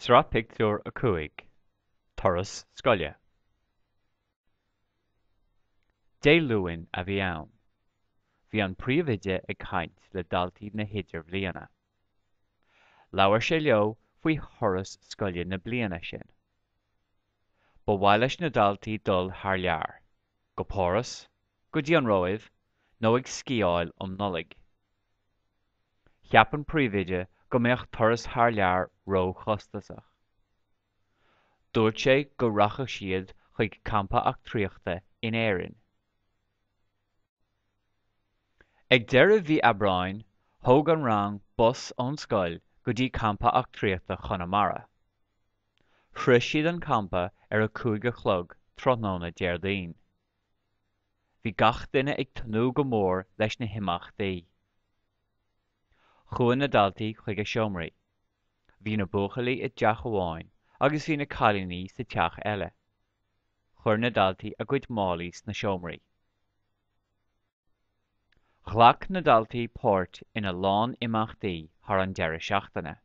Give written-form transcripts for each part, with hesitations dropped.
Sraith Pictiúr 5, Turas Scoile. Dé Luain a bhí ann. Bhí an príomhoide ag caint le daltaí na hIdirbhliana. Labhair sé leo faoi thuras scoile na bliana sin. Ba mhaith leis na daltaí dul thar lear, go Páras, go dtí an Róimh nó ag sciáil um Nollaig. Cheap an príomhoide go mbeadh turas thar lear ró-chostasach. Dúirt sé go rachadh siad chuig campa eachtraíochta in Éirinn. Ag deireadh mhí Aibreáin, thóg an rang bus ón scoil go dtí campa eachtraíochta Chonamara. Shroich siad an campa ar a 5 a chlog tráthnóna Déardaoin. Bhí gach duine ag tnúth go mór leis na himeachtaí. Chuaigh na daltaí chuig a seomraí. Bhí na buachaillí i dteach amháin agus bhí na cailíní sa teach eile. Chuir na daltaí a gcuid málaí sna seomraí. Ghlac na daltaí páirt ina lán imeachtaí thar an deireadh seachtaine.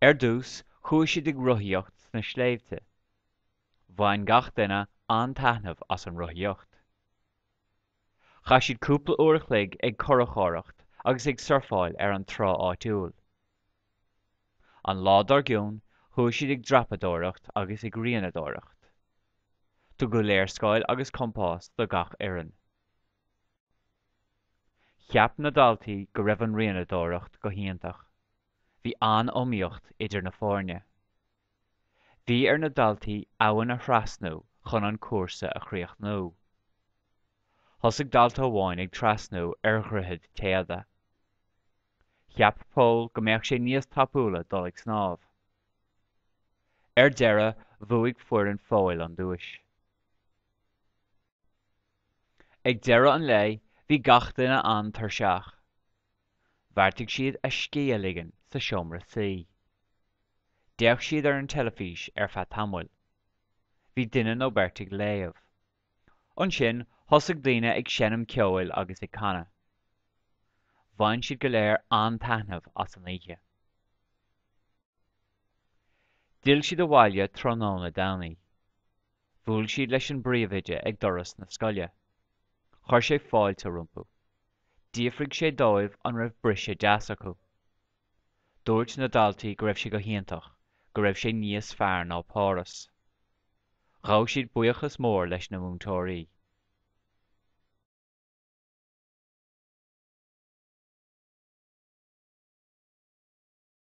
Ar dtús, chuaigh siad ag rothaíocht sna sléibhte. Bhain gach duine an-taitneamh as an rothaíocht. Chaith siad cúpla uair a chloig ag curachóireacht agus ag surfáil ar an trá áitiúil. An lá dár gcionn, chuaigh siad ag dreapadóireacht agus ag rianadóireacht. Tugadh léarscáil agus compás do gach fhoireann. Cheap na daltaí go raibh an rianadóireacht go hiontach. Bhí an-iomaíocht idir na foirne. Bhí ar na daltaí abhainn a thrasnú chun an cúrsa a chríochnú. Thosaigh dalta amháin ag trasnú ar dhroichead téada. Cheap Pól go mbeadh sé níos tapúla dul ag snámh. Ar deireadh, bhuaigh foireann Phóil an duais. Ag deireadh an lae, bhí gach duine an-tuirseach. Bheartaigh siad a scíth a ligean sa seomra suí. D'fhéach siad ar an teilifís ar feadh tamaill. Bhí duine nó beirt ag léamh. Ansin thosaigh daoine ag seinm ceoil agus ag canadh. Bhain siad go léir an-taitneamh as an oíche. D'fhill siad abhaile tráthnóna Domhnaigh. Bhuail siad leis an bpríomhoide ag doras na scoile. Chuir sé fáilte rompu. D'fhiafraigh sé dóibh an raibh briseadh deas acu. Dúirt na daltaí go raibh sé go hiontach, go raibh sé níos fearr ná Páras. Ghabh siad buíochas mór leis na múinteoirí.